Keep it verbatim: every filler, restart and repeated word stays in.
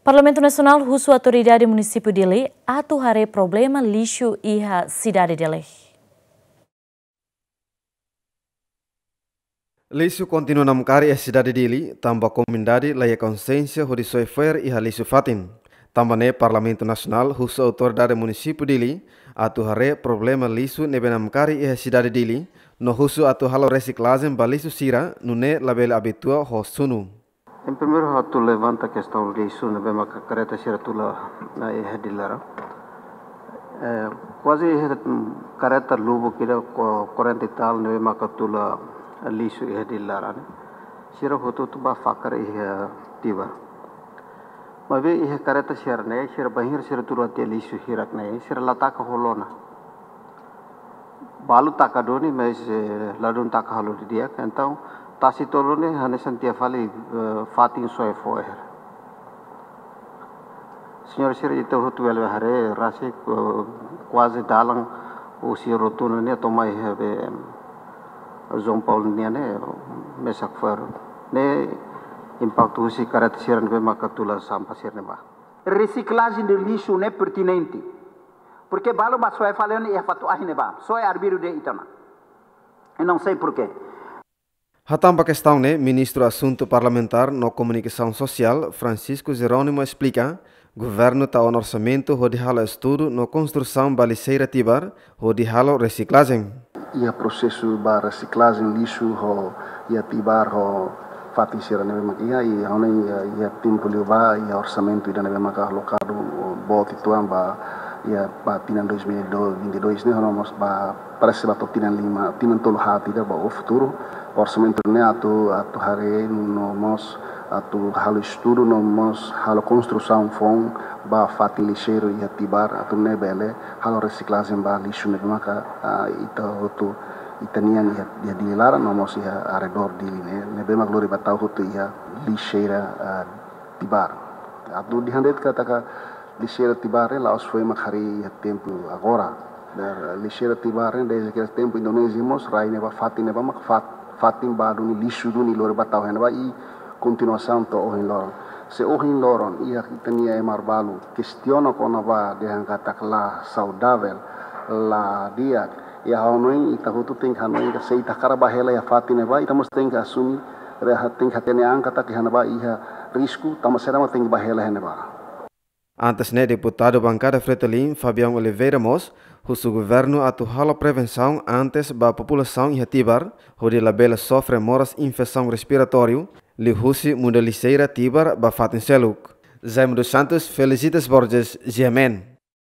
Parlamentu Nasionál husu Autoridade Munisípiu Dili atu haree problema lixu iha sidade Dili. Lixu kontinua namkari iha sidade Dili, tanba komunidade la iha konsiénsia hodi soe fo'er iha lixu fatin. Tanba ne'e Parlamentu Nasionál husu Autoridade Munisípiu Dili atu haree problema lixu ne'ebé namkari iha sidade Dili, no husu atu halo resiklajen ba lixu sira, nune'e labele abitua ho sunu. Em primeiru, atu levanta kestaun lixu ne'ebé maka kareta sira tula, eh, iha Dili laran. Eh, kuaze iha, mm, kareta lubuk ida ko-, quarenta e tal ne'ebé maka tula lixu iha Dili laran. Sira hotu-hotu bá fakar iha Tibar. Maibé iha kareta sira-ne'e, sira bainhira sira tula tiha lixu hirak-ne'e, sira la taka ho lona. Balu taka duni, mas, eh, ladún taka halo didi'ak. Entaun, tasi tolu ne'e hanesan tiha fali, eh, fatin soe fo'er. Señór sira, ita hotu bele haree, rasik, eh, kuaze dalan husi rotunda ne'e to'o mai iha be, em, João Paulo nian ne'e, mesak fo'er. Ne'e impaktu husi kareta sira ne'ebé maka tula sampah sira-ne'e bá. Resiklajen de lixu ne'e pertinente. Porke balu bá soe fali iha fatin ahi ne'ebá. Soe arbiru de'it ona. Eu não sei porquê. Hatán ba kestaun ne'e, Ministru Asuntu Parlamentár no Komunikasaun Sosiál, Francisco Jerónimo, esplika, governu tau ona orsamentu hodi halo estudu no konstrusaun ba lixeira Tibar, hodi halo resiklajen. Iha prosesu ba resiklajen lixu ho iha Tibar ho fatin sira ne'ebé mak iha, i ha'u hanoin iha, iha tempu liubá, iha orsamentu ida ne'ebé maka alokadu boot uitoan ba, iha ba tinan dois mil e vinte e dois ne'e, ha'u hanoin mós ba, parese ba to'o tinan lima, tinan tolu haat ida ba o futuru, orsamentu ne'e atu, atu haree no mós atu halo estudu no mós halo konstrusaun foun ba fatin lixeiru iha Tibar atu nune'e bele halo resiklajen ba lixu ne'ebé maka, ah, ita hotu, ita-nian iha, iha Dili laran no mós iha arredór Dili ne'e, ne'ebé mak lori ba tau hotu iha lixeira, ah, Tibar. Atu dehan de'it katak lixeira Tibar ne'e la'ós foin mak harii iha tempu agora. Lixeira Tibar ne'e dezde tempu Indonézia mós rai ne'ebá, fatin ne'ebá mak fat-, fatin ba duni lixu duni lori ba tau iha ne'ebá i kontinuasaun to'o ohin loron. Se ohin loron iha ita-nia ema balu kestiona kona-ba dehan katak la saudavel, la di'ak, iha ha'u hanoin ita hotu tenke hanoin katak se ita hakarak bá hela iha fatin ne'ebá, ita mós tenke asume, re-, tenke hatene an katak iha ne'ebá iha risku, tanba saida mak tenke bá hela iha ne'ebá. Antes ne'e, deputadu bankada Fretilin, Fabião Oliveira mós husu governu atu halo prevensaun antes ba populasaun iha Tibar, hodi labele sofre moras infesaun respiratóriu, liuhusi muda lixeira Tibar ba fatin seluk. Jaime dos Santos, Felicitas Borges, G M N.